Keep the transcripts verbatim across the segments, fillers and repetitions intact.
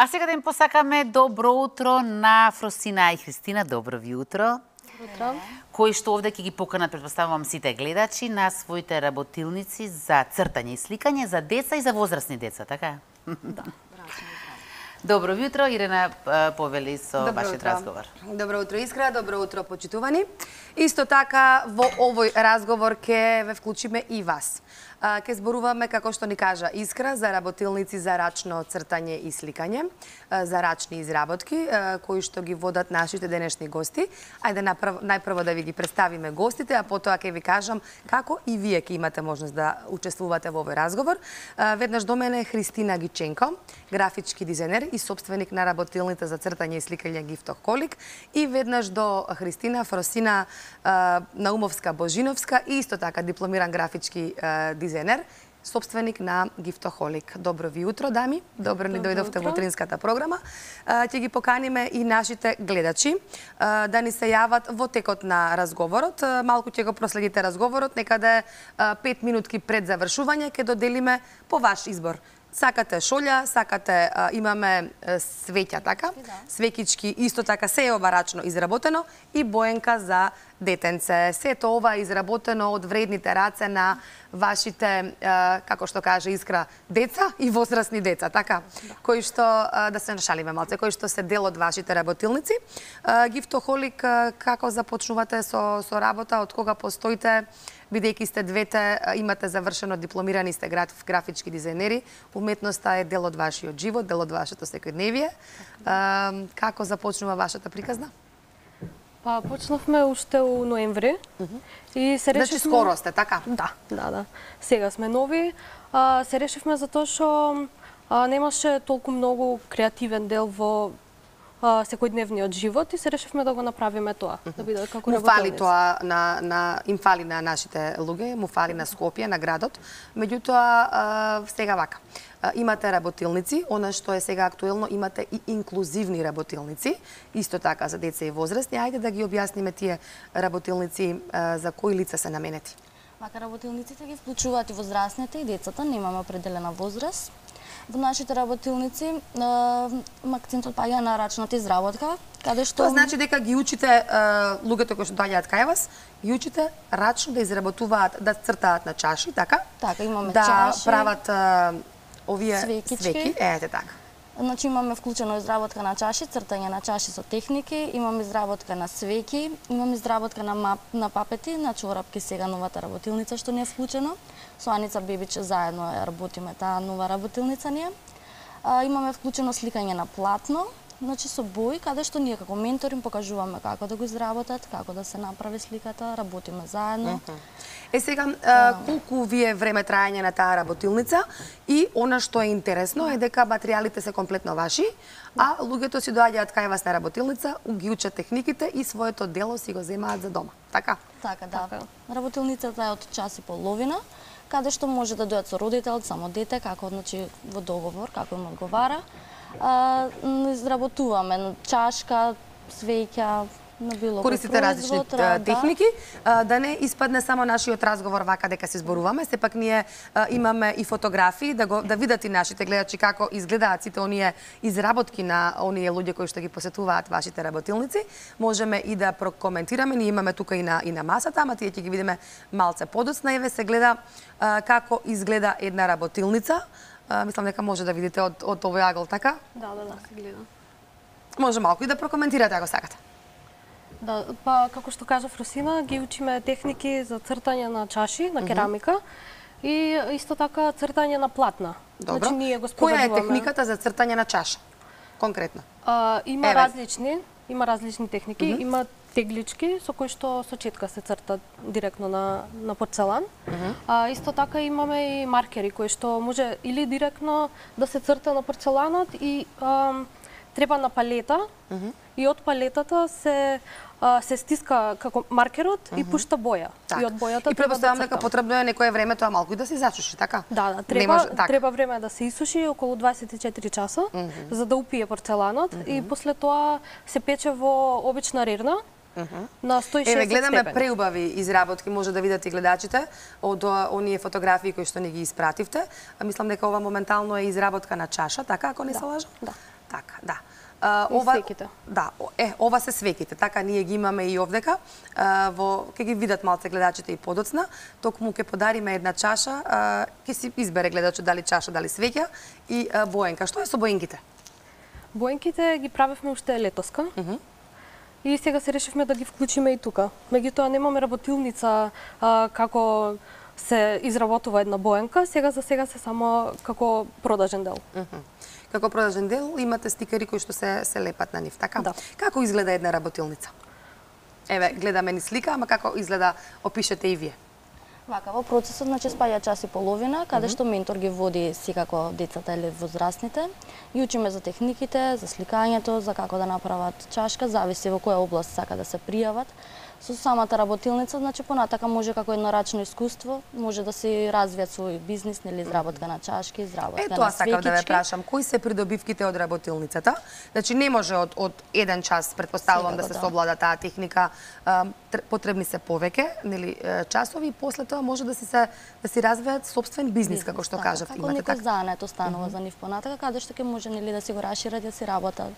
А сега да им посакаме добро утро на Фросина и Христина. Добро ви утро. Утро. Кои што овде ќе ги поканат, претпоставувам, сите гледачи на своите работилници за цртање и сликање за деца и за возрастни деца, така? Да. Добро утро, Ирена повели со Добро вашиот утро. разговор. Добро утро, Искра, добро утро, почитувани. Исто така, во овој разговор ќе ве вклучиме и вас. Ке зборуваме, како што ни кажа Искра, за работилници за рачно цртање и сликање, за рачни изработки, кои што ги водат нашите денешни гости. Ајде најпрво да ви ги представиме гостите, а потоа ќе ви кажам како и вие ќе имате можност да учествувате во овој разговор. Веднаш до мене Христина Гиченко, графички дизајнер и собственик на работилница за цртање и сликање Гифтохолик, и веднаш до Христина Фросина Наумовска-Божиновска, и исто така дипломиран графички дизајнер, собственик на Гифтохолик. Добро ви утро, дами. Добро ни дојдовте во утринската програма. Ќе ги поканиме и нашите гледачи да ни се јават во текот на разговорот. Малку ќе го проследите разговорот, некаде пет минутки пред завршување ќе доделиме по ваш избор. Сакате шолја, сакате, а, имаме свеќа, така? Да. Свекички, исто така се е ова рачно изработено, и боенка за детенце. Сето ова е изработено од вредните раце на вашите, а, како што каже Искра, деца и возрастни деца, така? Да. Кои што, а, да се нашалиме малце, кои што се дел од вашите работилници. А, Гифтохолик, а, како започнувате со, со работа, од кога постоите? Бидејќи сте двете, имате завршено, дипломирани сте графички дизајнери, уметноста е дел од вашиот живот, дел од вашето секојдневие. Како започнува вашата приказна? Па, почнавме уште у ноември. Uh -huh. И се решивме... Значи скоро сте, така? Да, да, да. Сега сме нови. А, се решивме затоа што немаше толку многу креативен дел во секојдневниот живот, и се решивме да го направиме тоа, uh -huh. да биде како работилница. Му фали тоа на, на им фали на нашите луѓе, му фали на Скопје, на градот. Меѓутоа, сега вака. Имате работилници, она што е сега актуелно, имате и инклузивни работилници, исто така за деца и возрастни. Ајде да ги објасниме тие работилници за кои лица се наменети. Вака, работилниците ги вклучуваат и возрастните и децата, немаме определена возраст. Во нашите работилници има акцентот паѓа на рачната изработка, каде што... Тоа значи дека ги учите луѓето кои што доаѓаат кај вас, ги учите рачно да изработуваат, да цртаат на чаши, така? Така, имаме да чаши, да прават овие свекички. свеки, ете така. Значи имаме вклучено изработка на чаши, цртање на чаши со техники, имаме изработка на свеки, имаме изработка на мап, на папети, на чорапки, сега новата работилница што не е вклучено. Со Аница Бебиче заедно ја работиме таа нова работилница ние. А, имаме вклучено сликање на платно, значи со бои, каде што ние како ментори им покажуваме како да го изработат, како да се направи сликата, работиме заедно. Uh -huh. Е сега, а, колку вие време трајање на таа работилница, и она што е интересно е дека материјалите се комплетно ваши, а луѓето си доаѓаат кај вас на работилница, ги учат техниките и своето дело си го земаат за дома, така? Така, да. Така. Работилницата е од час и половина, каде што може да дојдат со родител, само дете, како, значи, во договор, како им одговара. А, изработуваме чашка, свеќа, на било користите различни да. техники, да не испадне само нашиот разговор вака дека се зборуваме, сепак ние имаме и фотографии да го да видат и нашите гледачи како изгледаат сите оние изработки на оние луѓе кои што ги посетуваат вашите работилници. Можеме и да прокоментираме, ние имаме тука и на и на масата, ама тие ќе ги видиме малце подоцна, еве се гледа како изгледа една работилница. Мислам дека може да видите од од овој агол, така? Да, да, да, се гледа. Може малку и да прокоментирате ако сакате. Да, па како што кажа Фросина, ги учиме техники за цртање на чаши, на керамика, uh -huh. и исто така цртање на платна. Добро. Значи ние го која е техниката за цртање на чаша? Конкретно. А, има Еве. различни, има различни техники, uh -huh. има теглички со кои што со четка се црта директно на на порцелан. Uh -huh. А исто така имаме и маркери кои што може или директно да се црта на порцеланот, и а, треба на палета, uh -huh. и од палетата се а, се стиска како маркерот, uh -huh. и пушта боја. Так. И од бојата и предпоставам дека потребно е некое време тоа малку и да се засуши, така? Да, да, треба може, так. треба време да се исуши, околу дваесет и четири часа, uh -huh. за да упие порцеланот, uh -huh. и после тоа се пече во обична рерна. Uh -huh. На сто и шесет Еве, гледаме степени. преубави изработки, може да видат и гледачите од оние фотографии кои што ни ги испративте. Мислам дека ова моментално е изработка на чаша, така, ако не да. се лажам? Да. Така, да. Uh, И свеките. Да, е, ова се свеките. Така ние ги имаме и овдека. Uh, во ќе ги видат малце гледачите и подоцна. Токму ќе подариме една чаша, uh, ќе си избере гледачот дали чаша, дали свеќа и uh, боенка. Што е со боенките? Боенките ги правевме уште летоска. Uh -huh. И сега се решивме да ги вклучиме и тука. Меѓутоа немаме работилница а, како се изработува една боенка, сега за сега се само како продажен дел. Uh -huh. Како продажен дел имате стикери кои што се се лепат на нив, така? Да. Како изгледа една работилница? Еве, гледаме ни слика, ама како изгледа, опишете и вие. Вака, во процесот, значи, спаѓа час и половина, каде што ментор ги води секако децата или возрастните. И учиме за техниките, за сликањето, за како да направат чашка, зависи во која област сака да се пријават. Со самата работилница, значи, понатака може како еднорачно искуство, може да си развијат свој бизнис, нели, изработка на чашки, изработка Е, на тоа свекички. сакав да ве прашам, кои се придобивките од работилницата? Значи не може од од еден час, претпоставувам да се Секако, да. совлада таа техника, а, тр- потребни се повеќе, нели, е, часови и после тоа може да си се да си развијат собствен бизнес, како што така, кажавте, како имате некој така. занет останува за нив понатака, каде што ќе може, нели, да си го расшират, да си работат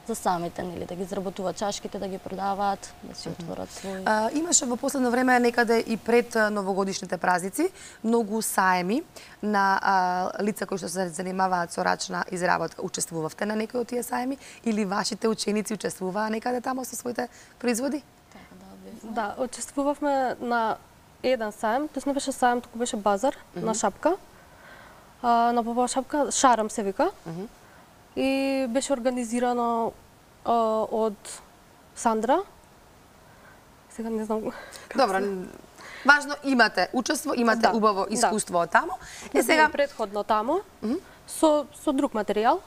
за самите, нели, да ги изработуваат чашките, да ги продаваат, да си отворат свој. А, имаше во последно време некаде и пред а, новогодишните празници многу саеми на а, лица кои што се занимаваат со рачна изработка. Учествувавте на некои од тие саеми или вашите ученици учествуваа некаде тамо со своите производи? Така да, бев. Да, учествувавме на еден саем, тоа не беше саем, туку беше базар mm -hmm. на шапка. А, на Попова шапка, Шарам се вика. Mm -hmm. И беше организирано а, од Сандра. Сега не знам. Добро, важно имате учество, имате Да, убаво да. искуство од тамо. Е, Е сега предходно тамо, mm -hmm. со, со друг материјал.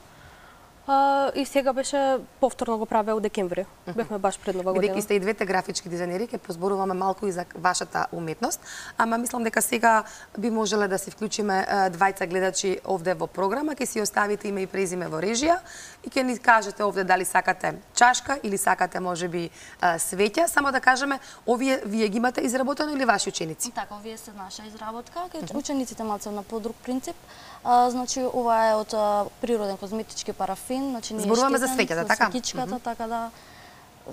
А, и сега беше повторно го правеа у декември. Mm -hmm. Бевме баш пред Нова година. бидејќи сте и двете графички дизајнери, ќе позборуваме малку и за вашата уметност, ама мислам дека сега би можеле да се вклучиме е, двајца гледачи овде во програма, ќе си оставите име и презиме во режија и ќе ни кажете овде дали сакате чашка или сакате можеби е, свеќа, само да кажеме овие вие ги имате изработено или ваши ученици? Така, овие се наша изработка, кај учениците малце на подруг принцип. А, значи, ова е од а, природен козметички парафин, значи не е Зборуваме за штетен, свеќата, со така? свекичката, така да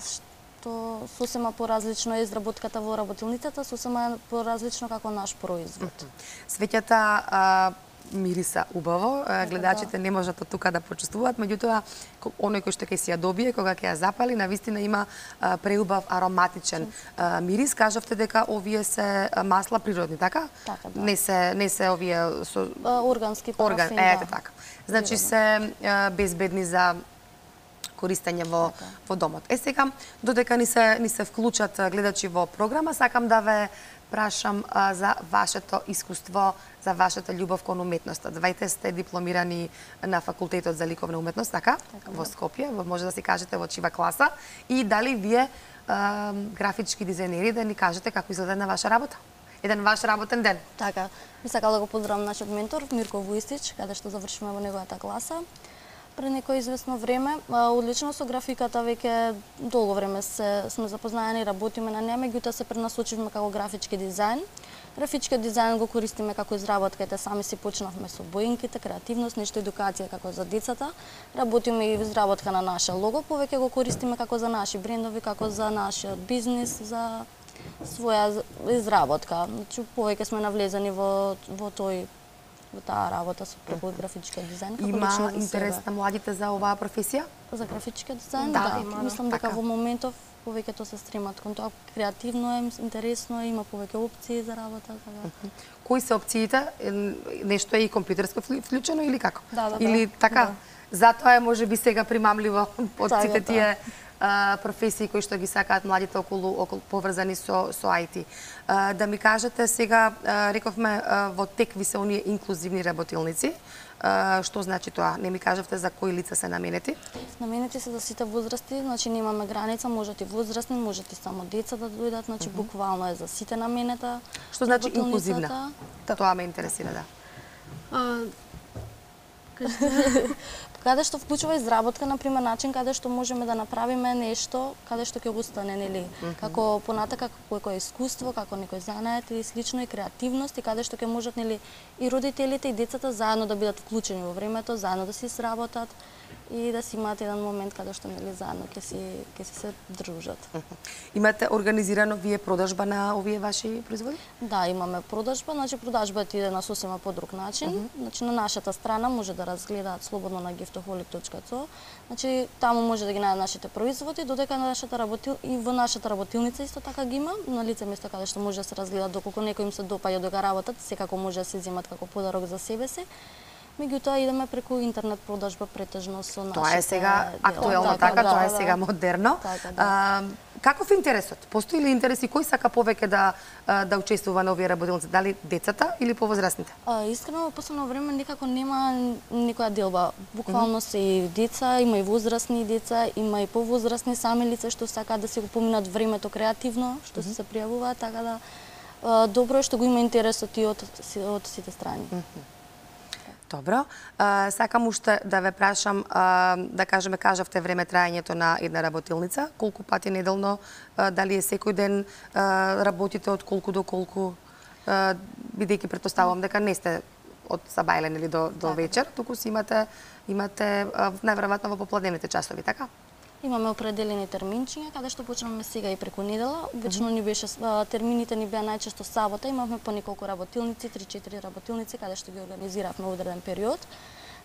што сосема поразлично е изработката во работилницата, сосема е поразлично како наш производ. Свеќата а, мириса убаво, а, гледачите не можат од тука да почувствуваат, меѓутоа ко- оној кој што ќе си ја добие кога ќе ја запали, навистина има а, преубав ароматичен а, мирис. Кажавте дека овие се а, масла природни, така? Така, да. Не се не се овие со А, Органски орган, парафин, ете да. така. Значи се а, безбедни за користење во Така. во домот. Е сега додека ни се ни се вклучат а, гледачи во програма, сакам да ве прашам а, за вашето искуство, за вашата љубов кон уметноста. Двајте сте дипломирани на факултетот за ликовна уметност, така? Во Скопје, во може да си кажете во чива класа и дали вие а, графички дизајнери да ни кажете како изгледа една ваша работа? Еден ваш работен ден. Така, би сакала да го поздравам нашиот ментор Мирко Вујстич, каде што завршиме во неговата класа пред некој известно време. А, Одлично со графиката веќе долго време се сме запознаени, работиме на неа, меѓутоа се пренасочивме како графички дизајн. Графичкиот дизајн го користиме како изработка, ете сами си почнавме со боинките, креативност, нешто едукација како за децата. Работиме и изработка на наше лого, повеќе го користиме како за наши брендови, како за нашиот бизнис, за своја изработка. Значи, повеќе сме навлезени во, во тој во таа работа со преку графичкиот дизајн. како Има лично за интерес себе. на младите за оваа професија? За графичкиот дизајн, Да, да. има, да. Мислам дека Така. во моментов повеќето се стремат кон тоа. Креативно е, интересно е, има повеќе опции за работа. Така. Кои се опциите? Е, Нешто е и компјутерско вклю- вклучено или како? Да, да, да. Или така? Затоа е можеби сега примамливо од Така, сите да. тие а, професии кои што ги сакаат младите околу, околу поврзани со со ай ти. А, да ми кажете сега, а, рековме а, во тек ви се оние инклузивни работилници. А, што значи тоа? Не ми кажавте за кои лица се наменети? Наменети се за сите возрасти, значи немаме граница, можат и возрастни, можат и само деца да дојдат, значи буквално е за сите наменета. Што значи работилницата. инклузивна? Тоа ме интересира, да. А, Каде што вклучува изработка, например, начин каде што можеме да направиме нешто, каде што ќе остане, нели, како понатака како некое искуство, како некој занает или слично и креативност и каде што ќе можат, нели, и родителите и децата заедно да бидат вклучени во времето, заедно да се сработат и да си имаат еден момент каде што нели заедно ќе си ќе си се дружат. Имате организирано вие продажба на овие ваши производи? Да, имаме продажба, значи продажбата иде на сосема по друг начин. Uh -huh. Значи на нашата страна може да разгледаат слободно на giftaholic точка co. Значи таму може да ги најдат нашите производи, додека на нашата работил и во нашата работилница исто така ги има, на лице место каде што може да се разгледаат доколку некој им се допаѓа дека работат, секако може да се земат како подарок за себе си. Меѓутоа идеме преку интернет продажба претежно со нашите. Тоа е сега актуелно, така, тоа е сега модерно. А, каков интересот? Постои ли интерес и кој сака повеќе да да учествува на овие работилници? Дали децата или повозрастните? А, искрено во последно време никако нема никоја делба. Буквално се и деца, има и возрастни деца, има и повозрастни сами лица што сакаат да си го поминат времето креативно, што се пријавуваат, така да добро е што го има интересот и од од сите страни. Добро. А, сакам уште да ве прашам, а, да кажеме, кажавте време траењето на една работилница, колку пати неделно, а, дали е секој ден а, работите од колку до колку, а, бидејќи претпоставувам дека не сте од сабајлен или до, до вечер, туку си имате, имате најверојатно во попладневните часови, така? Имаме определени терминчиња, каде што почнеме сега и преку недела. Обично ни беше термините ни беа најчесто сабота, имавме по неколку работилници, три-четири работилници каде што ги организиравме во одреден период.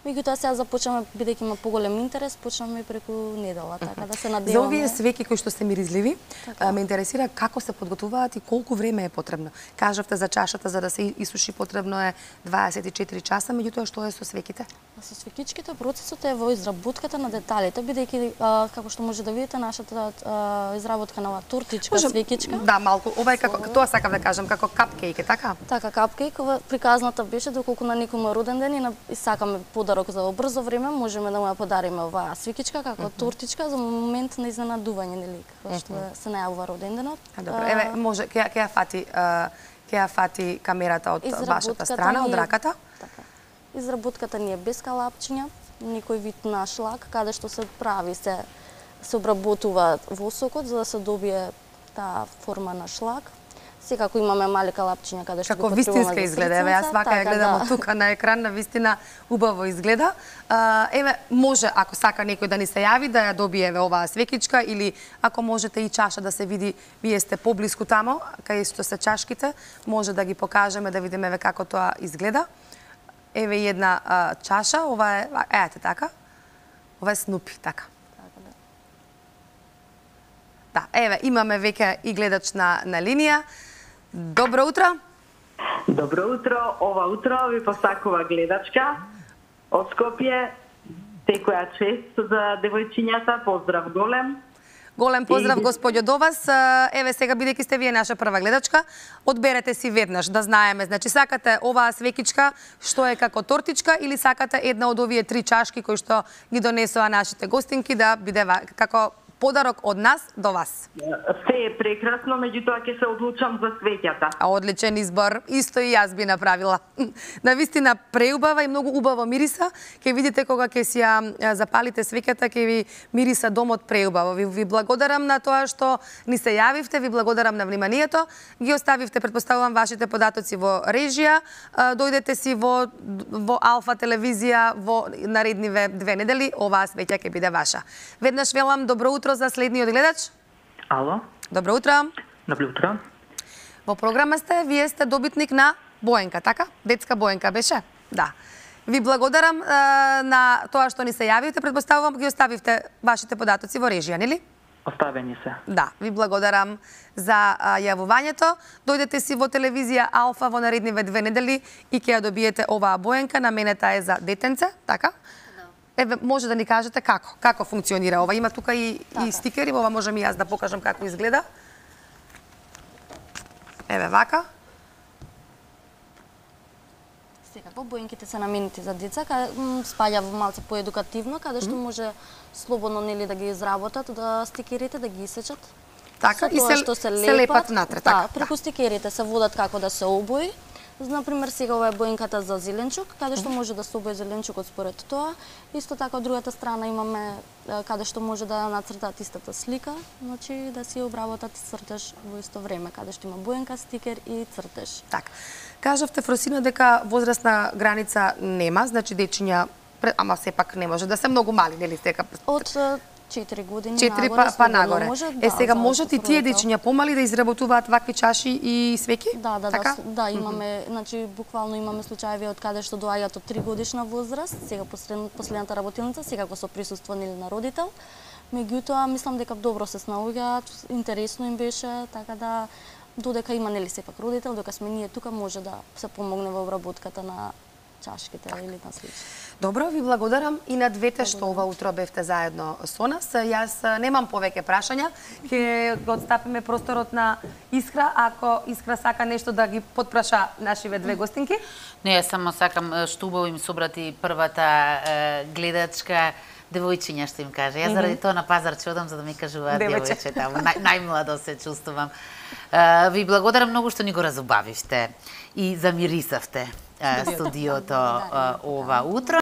Меѓутоа сега започнаме, бидејќи има поголем интерес, почнеме и преку недела, така да се надеваме. За овие свеќи кои што се миризливи, така. ме интересира како се подготвуваат и колку време е потребно. Кажавте за чашата за да се исуши потребно е дваесет и четири часа, меѓутоа што е со свеќите? Со свеќичките процесот е во изработката на деталите, бидејќи како што може да видите нашата а, изработка на оваа тортичка, може, свеќичка. Да, малку. Ова е како тоа сакам да кажам, како капкејк, така? Така, капкејк. Приказната беше доколку на некој му роден ден и, на, и сакаме подарок за брзо време, можеме да му ја подариме оваа свеќичка како uh -huh. тортичка за момент на изненадување, нели, како што uh -huh. се најавува роденденот. А, добро. Еве, може ќе ќе ја фати ќе ја фати камерата од вашата страна, од раката. Така. Изработката ни е без калапчиња, некој вид на шлак, каде што се прави, се се обработува восокот за да се добие таа форма на шлак. Секако имаме мали калапчиња каде што како вистинска изгледа. Еве јас вака ја гледам од тука на екран, на вистина убаво изгледа. А, еве може ако сака некој да ни се јави да ја добие еве оваа свекичка или ако можете и чаша да се види, вие сте поблиску тамо кај што се чашките, може да ги покажеме да видиме еве како тоа изгледа. Еве една а, чаша, ова е, еате така. Ова е Снупи, така. Да, еве имаме веќе и гледач на на линија. Добро утро. Добро утро. Ова утро ви посакува гледачка од Скопје. Секоја чест за девојчињата. Поздрав голем. Голем поздрав, господјо, до вас. Еве сега, бидејќи сте вие наша прва гледачка, одберете си веднаш да знаеме. Значи, сакате оваа свекичка што е како тортичка или сакате една од овие три чашки кои што ги донесоа нашите гостинки да биде како подарок од нас до вас. Се е прекрасно, меѓутоа ќе се одлучам за свеќата. А одличен избор, исто и јас би направила. Навистина преубава и многу убаво мириса. Ќе видите кога ќе си ја запалите свеќата, ќе ви мириса домот преубаво. Ви, ви благодарам на тоа што ни се јавивте, ви благодарам на вниманието. Ги оставивте, претпоставувам, вашите податоци во режија. Дојдете си во во Алфа телевизија во наредниве две недели, оваа свеќа ќе биде ваша. Веднаш велам добро утро за следниот гледач. Ало. Добро утро. Добро утро. Во програма сте, вие сте добитник на боенка, така? Детска боенка беше? Да. Ви благодарам е, на тоа што ни се јавивте, претпоставувам ги оставивте вашите податоци во режија, нели? Оставени се. Да, ви благодарам за а, јавувањето. Дојдете си во телевизија Алфа во наредниве две недели и ќе ја добиете оваа боенка, наменета е за детенце, така? Еве, може да ни кажете како? Како функционира ова? Има тука и, и стикери, ова можам и јас да покажам како изгледа. Еве, вака. Секако, боенките се наменети за деца, каде спаѓа во малце поедукативно, каде што може слободно нели да ги изработат, да стикерите, да ги исечат. Така, и се, што се, се лепат натре. Така, да, преку стикерите се водат како да се обои. Например, сега ова е боенката за зеленчук, каде што може да се обои зеленчукот според тоа. Исто така, од другата страна имаме каде што може да нацртаат истата слика, значи да си обработат цртеж во исто време, каде што има боенка, стикер и цртеж. Така. Кажавте, Фросина, дека возрастна граница нема, значи дечиња Пре- Ама сепак не може да се многу мали, нели дека Од е, четири години четири нагоре, па, па слободно нагоре. Може, Е да, сега за можат и тие родител. дечиња помали да изработуваат вакви чаши и свеќи? Да, да, така? да, с- да, имаме, значи буквално имаме случаеви од каде што доаѓаат од три годишна возраст, сега послед, последната работилница, секако со присуство нели на родител. Меѓутоа, мислам дека добро се снаоѓаат, интересно им беше, така да додека има нели сепак родител, докато сме ние тука може да се помогне во обработката на чашките или на слични. Добро, ви благодарам и на двете што ова утро бевте заедно со нас. Јас а, немам повеќе прашања. Ќе го отстапиме просторот на Искра, ако Искра сака нешто да ги потпраша нашиве две гостинки. Не, јас само сакам е, што убаво им собрати првата е, гледачка девојчиња што им каже. Јас заради тоа на пазар ќе одам за да ми кажуваат Девојче. девојче таму. Нај, најмладо се чувствувам. Е, ви благодарам многу што ни го разубавивте и замирисавте е, студиото е, ова утро.